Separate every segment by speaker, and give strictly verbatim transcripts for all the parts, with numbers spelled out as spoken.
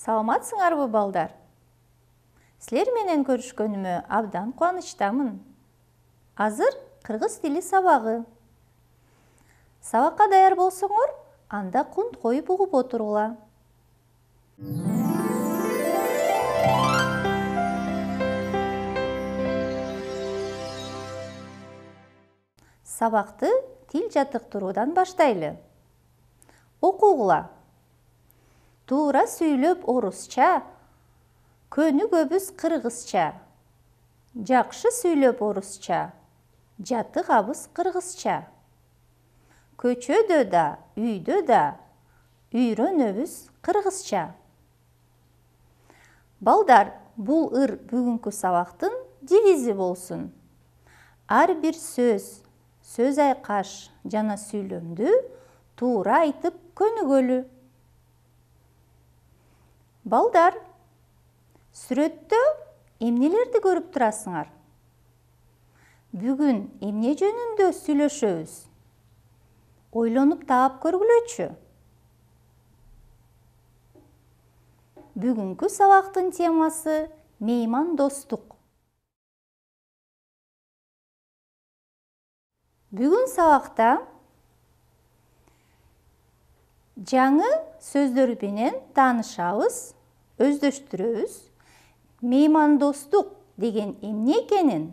Speaker 1: Саламатсыңарбы, балдар? Силер менен көрүшкөнүмө абдан кубанычтамын. Азыр кыргыз тили сабагы. Сабакка даяр болсоңор, анда кунт коюп угуп отургула. Сабакты тил жаттыктыруудан баштайлы. Окугула. Туура сүйлөп орусча, көнүгөбүз кыргызча. Жакшы сүйлөп орусча, жатыгабыз кыргызча. Көчөдө да, үйдө да үйрөнөбүз кыргызча. Балдар, бул ыр бүгүнкү сабактын девизи болсун. Ар бир сөз, сөз айкаш жана сүйлөмдү туура айтып көнүгөлү. Балдар, сүрөттө эмнелерди көрүп турасыңар? Бүгүн эмне жөнүндө сүйлөшөбүз? Ойлонуп таап көргүлөчү. Бүгүнкү сабактын темасы меймандостук. Бүгүн сабакта жаңы сөздөр менен таанышабыз, өздөштүрөбүз. Меймандостук деген эмне экенин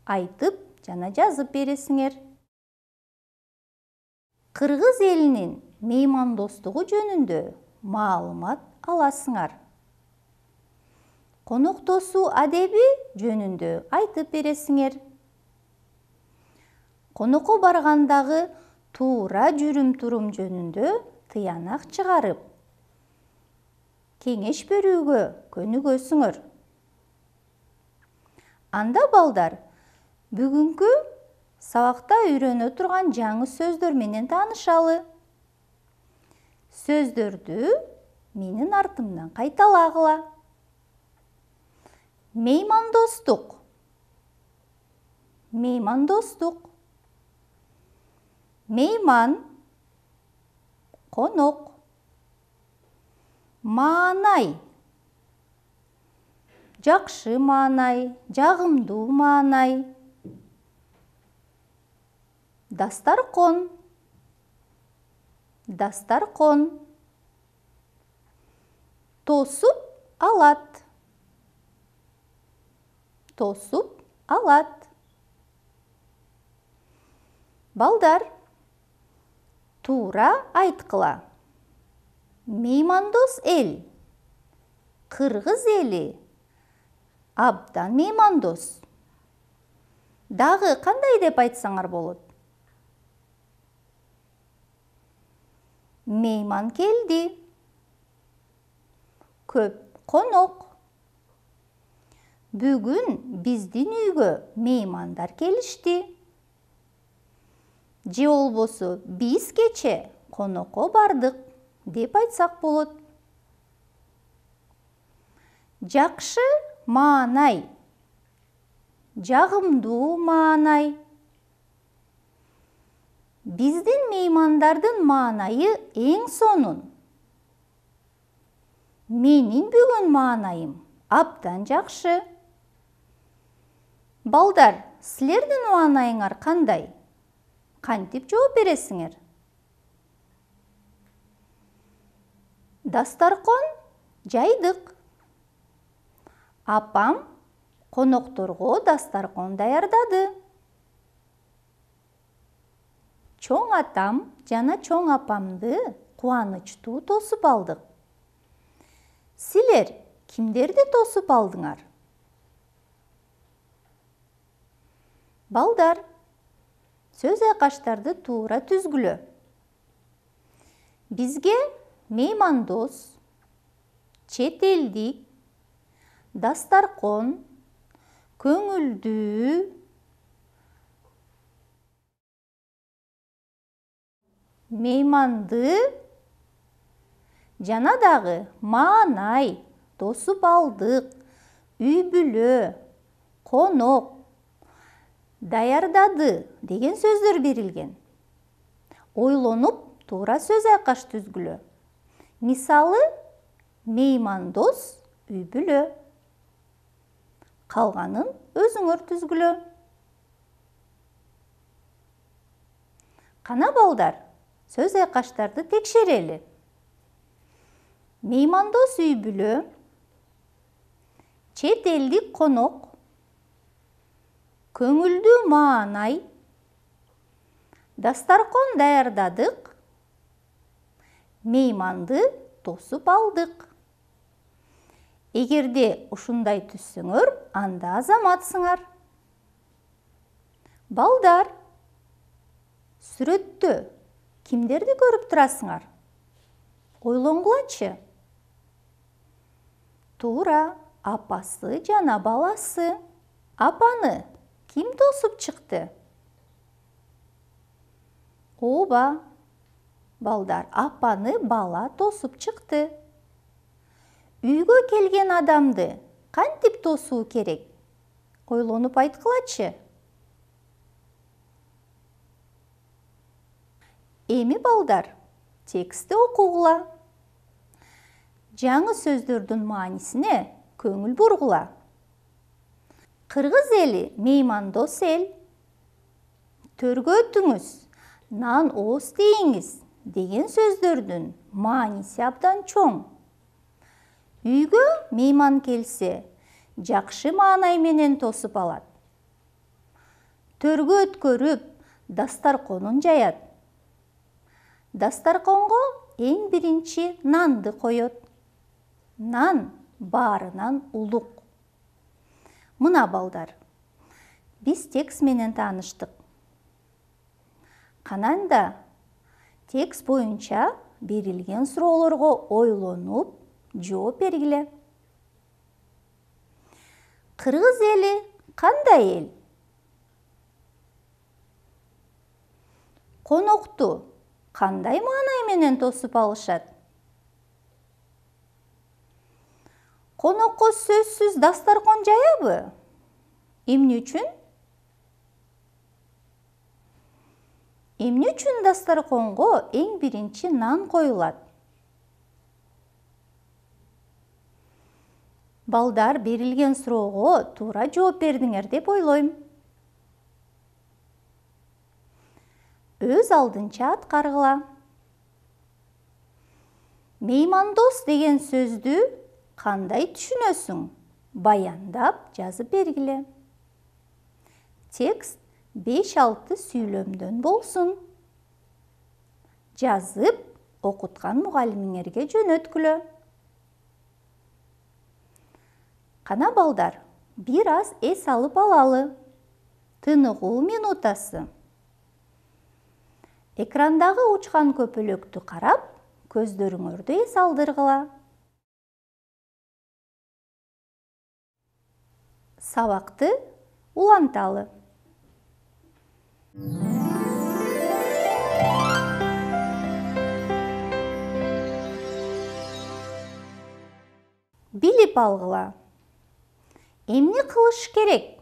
Speaker 1: айтып жана жазып бересиңер. Кыргыз элинин меймандостугу жөнүндө маалымат аласыңар. Коноктосуу адеби жөнүндө айтып бересиңер. Конокко баргандагы туура жүрүм-турум жөнүндө тыянак чыгарып, кеңеш берүүгө көнүгөсүңөр. Анда балдар, бүгүнкү сабакта үйрөнө турган жаңы сөздөр менен таанышалы. Сөздөрдү менин артымдан кайталагыла. Меймандостук. Меймандостук. Мейман, конок. Маанай. Жакшы маанай, жагымдуу маанай. Дастаркон. Дастаркон. Тосуп алат. Тосуп алат. Балдар, туура айткыла. Меймандос эл, кыргыз эли абдан меймандос. Дагы кандай деп айтсаңар болот? Мейман келди. Көп конок. Бүгүн биздин үйгө меймандар келишти. Же болбосо биз кече конокко бардык деп айтсак болот. Жакшы маанай, жагымдуу маанай. Биздин меймандардын маанайы эң сонун. Менин бүгүн маанайым абдан жакшы. Балдар, силердин маанайыңар кандай? Кантип жооп бересиңер? Дастаркон жайдык. Апам конокторго дастаркон даярдады. Чоң атам жана чоң апамды кубанычтуу тосуп алдык. Силер кимдерди тосуп алдыңар? Балдар, сөз айкаштарды туура түзгүлө. Бизге меймандос, чет элдик, дастаркон, көңүлдүү, мейманды жана дагы маанай, тосуп алдык, үй бүлө, конок, даярдады деген сөздөр берилген. Ойлонуп, туура сөз айкаш түзгүлө. Мисалы, меймандос үй бүлө. Калганын өзүңөр түзгүлө. Кана балдар, сөз айкаштарды текшерели. Меймандос үй бүлө, чет элдик конок, көңүлдүү маанай, дастаркон даярдадык, мейманды тосуп алдык. Эгерде ушундай түзсөңөр, анда азаматсыңар. Балдар, сүрөттө кимдерди көрүп турасыңар? Ойлонгулачы. Туура, апасы жана баласы. Апаны ким тосуп чыкты? Ооба, балдар, апаны бала тосуп чыкты. Үйгө келген адамды кантип тосуу керек? Ойлонуп айткылачы. Эми балдар, текстти окугула. Жаңы сөздөрдүн маанисине көңүл бургула. Кыргыз эли меймандос эл. Төргө өтүңүз, нан ооз дейиңиз деген сөздөрдүн мааниси абдан чоң. Үйгө мейман келсе, жакшы маанай менен тосуп алат. Төргө өткөрүп, дастарконун жаят. Дастарконго эң биринчи нанды коёт. Нан баарынан улук. Мына балдар, биз текст менен тааныштык. Кананда текст боюнча берилген суроолорго ойлонуп, жооп бергиле. Кыргыз эли кандай эл? Конокту кандай маанай менен тосуп алышат? Конокко сөзсүз дастаркон жаябы? Эмне үчүн? Эмне үчүн дастарконго эң биринчи нан коюлат? Балдар, берилген суроого туура жооп бердиңер деп ойлойм. Өз алдынча аткаргыла. Меймандос деген сөздү кандай түшүнөсүң? Баяндап жазып бергиле. Текст беш-алты сүйлөмдөн болсун. Жазып, окуткан мугалимиңерге жөнөткүлө. Кана балдар, бир аз эс алып алалы. Тыныгуу минутасы. Экрандагы учкан көпөлөктү карап, көздөрүңөрдү эс алдыргыла. Сабакты уланталы. Билип алгыла. Эмне кылыш керек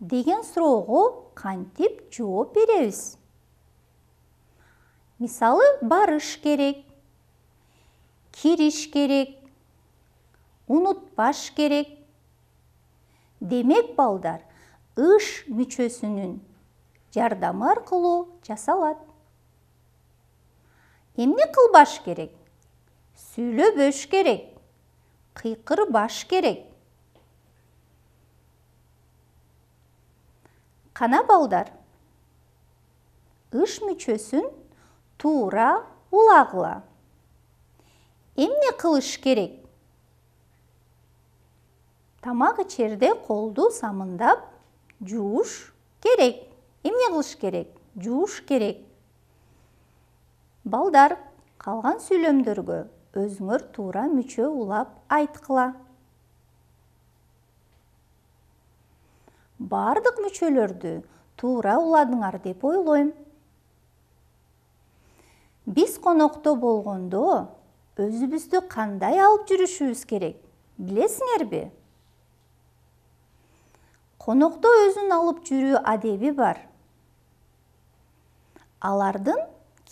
Speaker 1: деген суроого кантип жооп беребиз? Мисалы, барыш керек, кириш керек, унутпаш керек. Демек, балдар, ыш мүчөсүнүн жардамы аркылуу жасалат. Эмне кылбаш керек? Сүйлөбөш керек, кыйкырбаш керек. Кана балдар, ыш мүчөсүн туура улагыла. Эмне кылыш керек? Тамак ичерде колду самындап жууш керек. Эмне кылыш керек? Жууш керек. Балдар, калган сүйлөмдөргө өзүңөр туура мүчө улап айткыла. Бардык мүчөлөрдү туура уладыңар деп ойлойм. Биз конокто болгондо өзүбүздү кандай алып жүрүшүбүз керек? Билесиңерби? Конокто өзүн алып жүрүү адеби бар. Алардын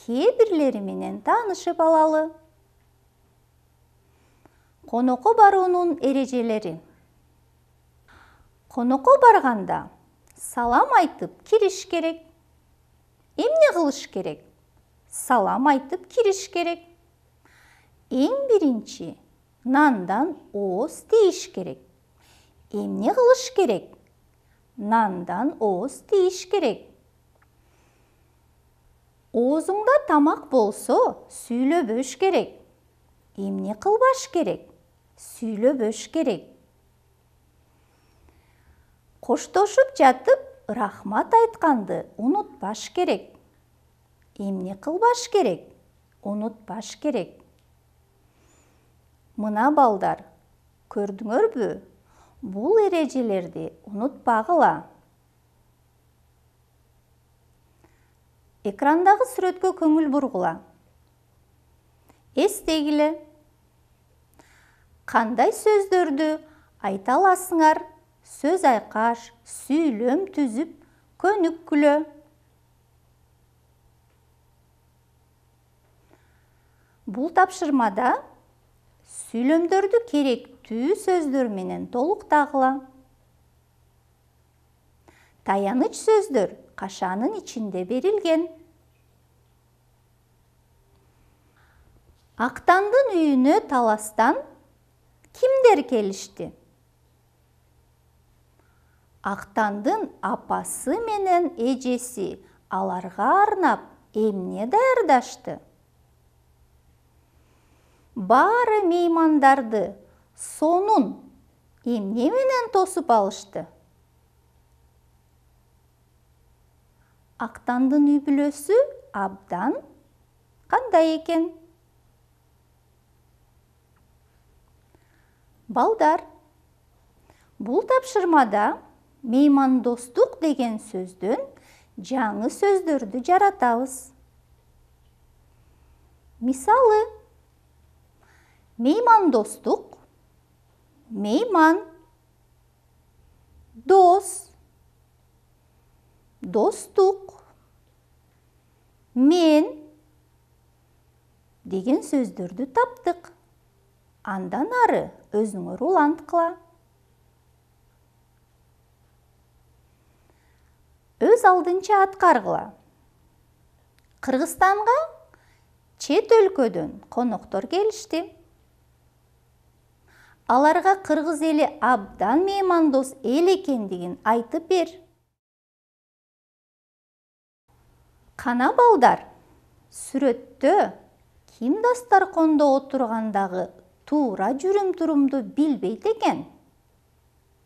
Speaker 1: кээ бирлери менен таанышып алалы. Конокко баруунун эрежелери. Конокко барганда салам айтып кириш керек. Эмне кылыш керек? Салам айтып кириш керек. Эң биринчи нандан ооз тийиш керек. Эмне кылыш керек? Нандан ооз тийиш керек. Оозуңда тамак болсо, сүйлөбөш керек. Эмне кылбаш керек? Сүйлөбөш керек. Коштошуп жатып, рахмат айтканды унутпаш керек. Эмне кылбаш керек? Унутпаш керек. Мына балдар, көрдүңөрбү? Бул эрежелерди унутпагыла. Экрандагы сүрөткө көңүл бургула. Эстегиле. Кандай сөздөрдү айта аласыңар? Сөз айкаш, сүйлөм түзүп, көнүккүлө. Бул тапшырмада сүйлөмдөрдү керектүү сөздөр менен толуктагыла. Таяныч сөздөр кашанын ичинде берилген. Актандын үйүнө таластан кимдер келишти? Актандын апасы менен эжеси аларга арнап эмне даярдашты? Баары меймандарды сонун эмне менен тосуп алышты? Актандын үй бүлөсү абдан кандай экен? Балдар, бул тапшырмада меймандостук деген сөздөн жаңы сөздөрдү жаратабыз. Мисалы, меймандостук, мейман, дос, достук, мен деген сөздөрдү таптык. Андан ары өзүңөр уланткыла. Өз алдынча аткаргыла. Кыргызстанга чет өлкөдөн коноктор келишти. Аларга кыргыз эли абдан меймандос эл экендигин айтып бер. Кана балдар, сүрөттө ким дастаркондо отургандагы туура жүрүм-турумду билбейт экен?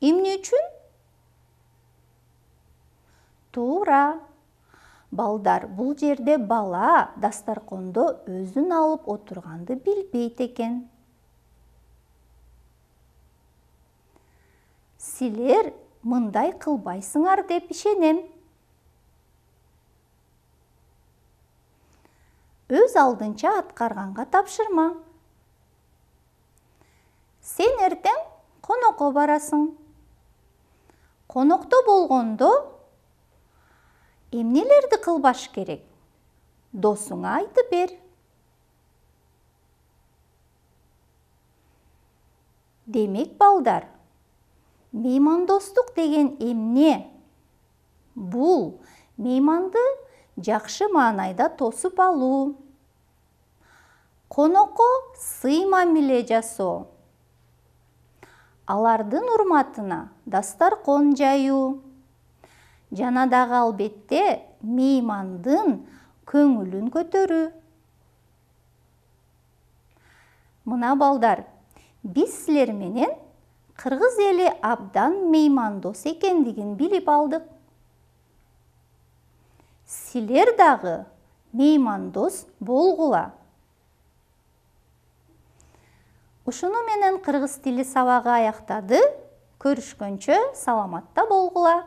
Speaker 1: Эмне үчүн? Туура. Балдар, бул жерде бала дастаркондо өзүн алып отурганды билбейт экен. Силер мындай кылбайсыңар деп ишенем. Өз алдынча аткарганга тапшырма. Сен эртең конокко барасың. Конокто болгондо эмнелерди кылбаш керек? Досуңа айтып бер. Демек балдар, меймандостук деген эмне? Бул мейманды жакшы маанайда тосуп алуу, конокко сый мамиле жасоо, алардын урматына дастаркон жаюу, жана дагы албетте меймандын көңүлүн көтөрүү. Мына балдар, биз силер менен кыргыз эли абдан меймандос экендигин билип алдык. Силер дагы меймандос болгула. Ушуну менен кыргыз тили сабагы аяктады. Көрүшкөнчө саламатта болгула.